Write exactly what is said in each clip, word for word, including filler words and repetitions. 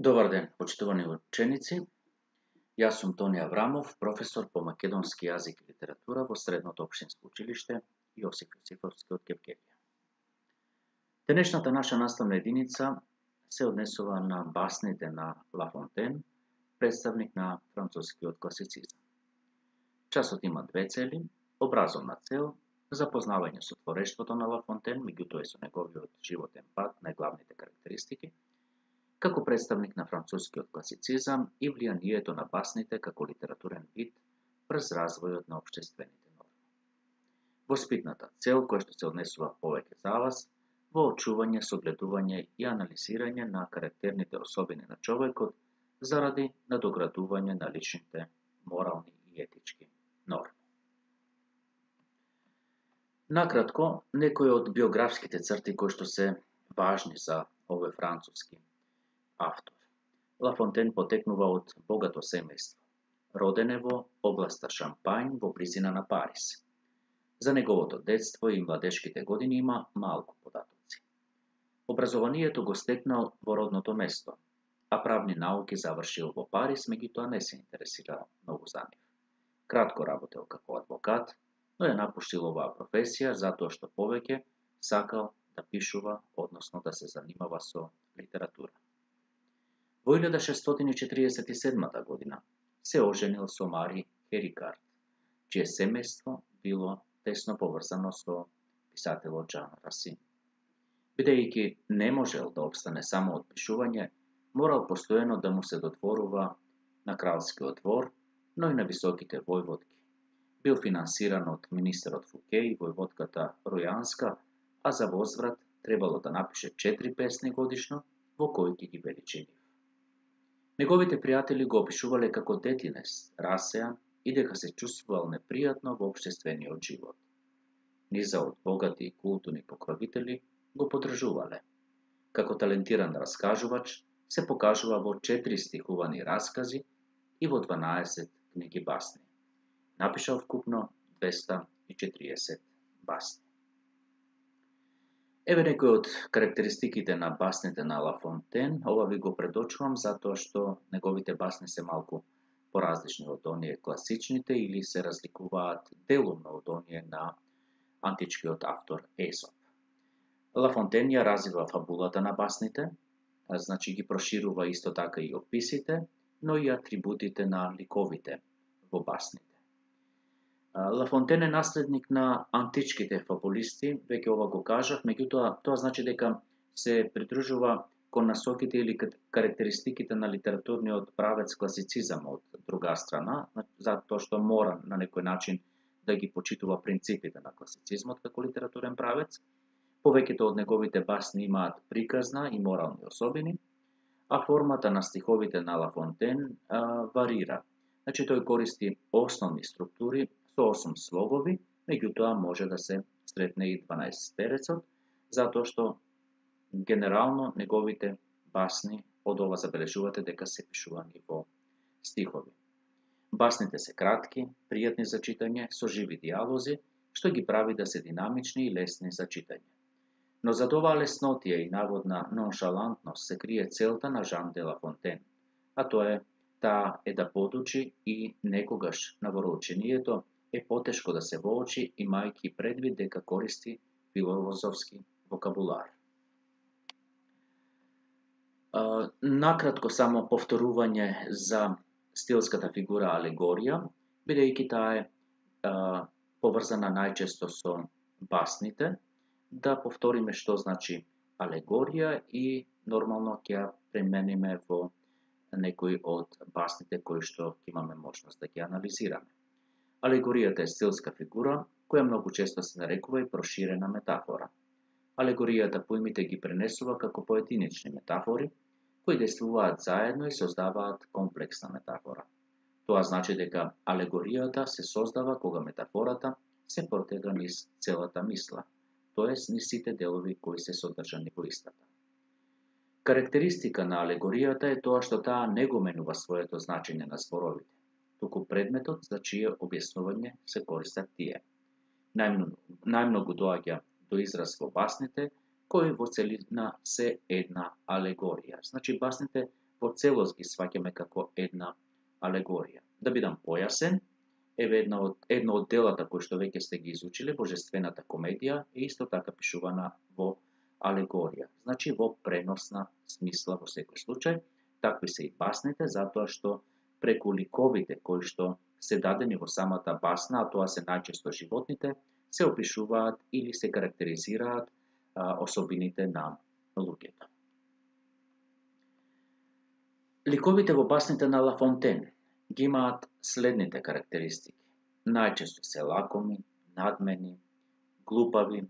Добар ден, почитувани ученици. Јас сум Тони Аврамов, професор по македонски јазик и литература во Средното општинско училиште Јосиф Јосифовски од Кепкелија. Денешната наша наставна единица се однесува на басните на Ла Фонтен, представник на францускиот класицизам. Часот има две цели: образовна цел, запознавање со творештвото на Ла Фонтен, меѓутоа и со неговиот животен пат, најглавните карактеристики, како представник на францускиот класицизам и влијанието на басните како литературен вид врз развојот на општествените норми. Воспитната цел, која што се однесува повеќе за вас, во очување, согледување и анализирање на карактерните особини на човекот заради надоградување на личните морални и етички норми. Накратко, некои од биографските црти кои што се важни за овој француски автор. Ла Фонтен потекнува од богато семејство. Роден е во областа Шампањ во близина на Париз. За неговото детство и младешките години има малку податоци. Образованието го стекнал во родното место, а правни науки завршил во Париз, меѓутоа не се интересирал многу за нив. Кратко работел како адвокат, но ја напуштил оваа професија затоа што повеќе сакал да пишува, односно да се занимава со литература. Во илјада шестстотини четиридесет и седма година се оженил со Мари Херикард, чие семејство било тесно поврзано со писателот Жан Расин. Бидејќи не можел да обстане само од пишување, морал постојано да му се додворува на кралскиот двор, но и на високите војводки. Бил финансиран од министерот Фуке и војводката Ројанска, а за возврат требало да напише четири песни годишно во кои ќе ги величи нив. Неговите пријатели го опишувале како детинест, расеан и дека се чувствувал непријатно во општествениот живот. Низа од богати и културни покровители го поддржувале. Како талентиран раскажувач се покажува во четири стихувани раскази и во дванаесет книги басни. Напишал вкупно двеста и четириесет басни. Еве некои од карактеристиките на басните на Ла Фонтен. Ова ви го предочувам затоа што неговите басни се малку поразлични од оние класичните или се разликуваат делумно од оние на античкиот автор Есоп. Ла Фонтен ја развива фабулата на басните, значи ги проширува исто така и описите, но и атрибутите на ликовите во басните. Ла Фонтен е наследник на античките фабулисти, веќе ова го кажав, меѓутоа тоа значи дека се придружува кон насоките или карактеристиките на литературниот правец класицизам од друга страна, затоа што мора на некој начин да ги почитува принципите на класицизмот како литературен правец. Повеќето од неговите басни имаат приказна и морални особини, а формата на стиховите на Ла Фонтен а, варира. Значи тој користи основни структури со осум слогови, меѓутоа може да се сретне и дванаесеттерецот, затоа што генерално неговите басни од ова забележувате дека се пишувани во стихови. Басните се кратки, пријатни за читање, со живи дијалози, што ги прави да се динамични и лесни за читање. Но зад оваа леснотија и наводна ноншалантност се крие целта на Жан де Ла Фонтен, а тоа е таа е да подучи и некогаш на вороучението е потешко да се воочи, имајќи предвид дека користи филозофски вокабулар. Uh, накратко само повторување за стилската фигура алегорија, бидејќи таа е uh, поврзана најчесто со басните, да повториме што значи алегорија и нормално ќе ја премениме во некои од басните кои што имаме можност да ги анализираме. Алегоријата е стилска фигура која многу често се нарекува и проширена метафора. Алегоријата поимите ги пренесува како поединечни метафори кои действуваат заедно и создаваат комплексна метафора. Тоа значи дека алегоријата се создава кога метафората се протега низ целата мисла, тоест низ сите делови кои се содржани во истата. Карактеристика на алегоријата е тоа што таа не го менува своето значење на зборовите, туку предметот за чие објаснување се користат тие. Најмногу, најмногу доаѓа до израз во басните, кои во целина се една алегорија. Значи, басните во целост ги сваќаме како една алегорија. Да бидам појасен, еве една од, едно од делата кои што веќе сте ги изучиле, Божествената комедија, е исто така пишувана во алегорија, значи во преносна смисла во секој случај. Такви се и басните, затоа што преку ликовите кои што се дадени во самата басна, а тоа се најчесто животните, се опишуваат или се карактеризираат а, особините на луѓето. Ликовите во басните на Ла Фонтен ги имаат следните карактеристики. Најчесто се лакоми, надмени, глупави,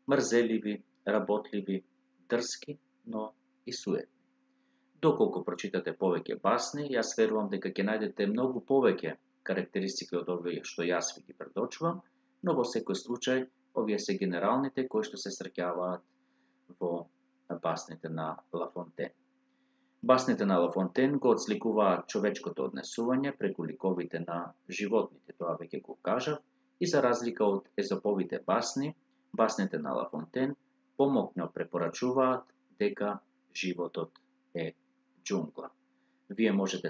мрзеливи, работливи, дрски, но и суетни. Доколку прочитате повеќе басни, јас верувам дека ќе најдете многу повеќе карактеристики од овие што јас ви ги предочувам, но во секој случај овие се генералните кои што се среќаваат во басните на Ла Фонтен. Басните на Ла Фонтен го отсликуваат човечкото однесување преку ликовите на животните, тоа веќе го кажав, и за разлика од езоповите басни, басните на Ла Фонтен помокно препорачуваат дека животот е џунгла. Вие можете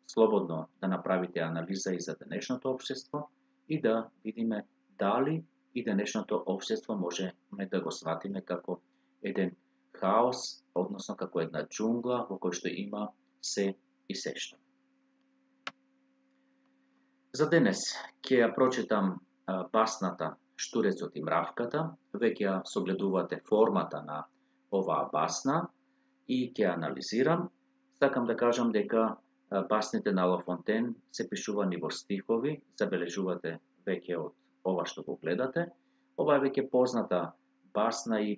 слободно да направите анализа и за денешното општество и да видиме дали и денешното општество можеме да го сватиме како еден хаос, односно како една џунгла во кој што има се и сешто. За денес ќе ја прочитам а, басната Штурецот и мравката. Веќе ја согледувате формата на оваа басна и ќе ја анализирам. Сакам да кажам дека басните на Ла Фонтен се пишувани во стихови, забележувате веќе од ова што го гледате. Ова е веќе позната басна и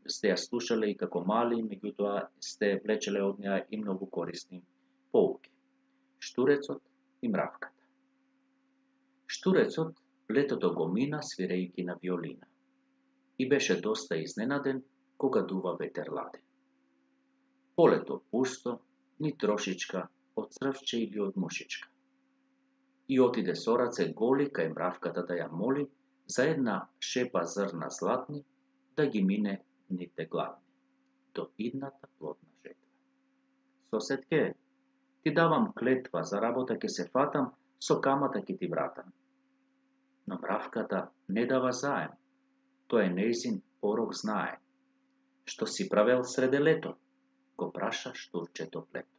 сте ја слушале и како мали, меѓутоа сте влечеле од неа и многу корисни поуки. Штурецот и мравката. Штурецот летото го мина свирејќи на виолина и беше доста изненаден кога дува ветер ладен. Полето пусто, ни трошичка од црвче или од мушичка. И отиде со раце голи кај мравката да ја моли за една шепа зрна златни да ги мине дните гладни, до идната плодна жетва. Соседке, ти давам клетва, за работа ќе се фатам, со камата ќе ти вратам. Но мравката не дава заем, тоа е нејзин порок знае. Што си правел среде лето? Го праша штурчето плето.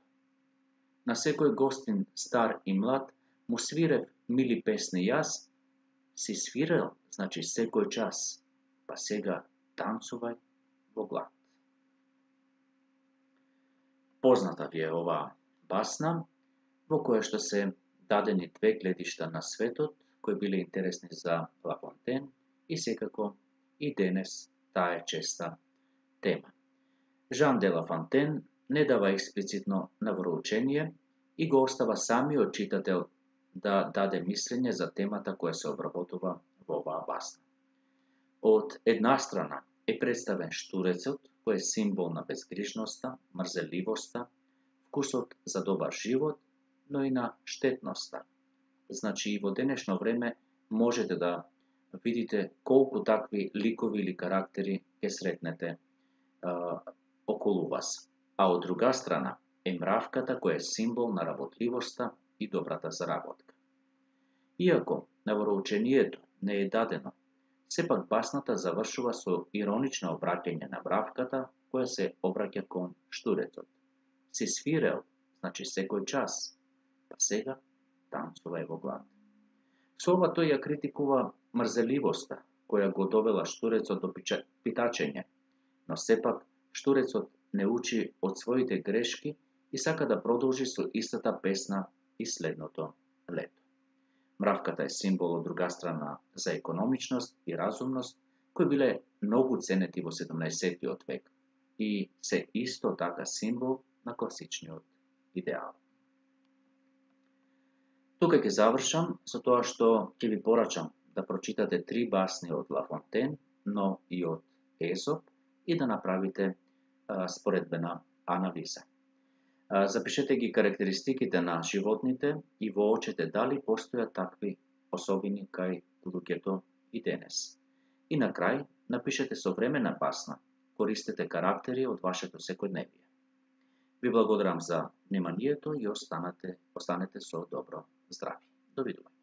На секој гостин, стар и млад, му свирев мили песни јас, си свирел, значи секој час, па сега танцувај во глад. Позната ви е оваа басна, во која што се дадени две гледишта на светот, кои биле интересни за Ла Фонтен и секако и денес таа е честа тема. Жан де Ла Фонтен не дава експлицитно навроучение и го остава самиот читател да даде мислење за темата која се обработува во оваа басна. Од една страна е представен штурецот, кој е символ на безгрижноста, мрзеливоста, вкусот за добар живот, но и на штетноста. Значи и во денешно време можете да видите колку такви ликови или карактери ќе сретнете а, околу вас. А од друга страна е мравката која е символ на работливоста и добрата заработка. Иако навроучението не е дадено, сепак басната завршува со иронично обраќање на мравката која се обраќа кон штурецот. Си свирел, значи секој час, па сега танцувај во глад. Со ова тој ја критикува мрзеливоста која го довела штурецот до питачење, но сепак штурецот не учи од своите грешки и сака да продолжи со истата песна и следното лето. Мравката е символ од друга страна за економичност и разумност, кои биле многу ценети во седумнаесеттиот век и се исто така символ на класичниот идеал. Тука ќе завршам со тоа што ќе ви порачам да прочитате три басни од Ла Фонтен, но и од Езоп и да направите а, споредбена анализа. А, запишете ги карактеристиките на животните и воочете дали постојат такви особини кај луѓето и денес. И на крај напишете современа басна, користете карактери од вашето секојдневие. Ви благодарам за вниманието и останете, останете со добро здравје. Довидување.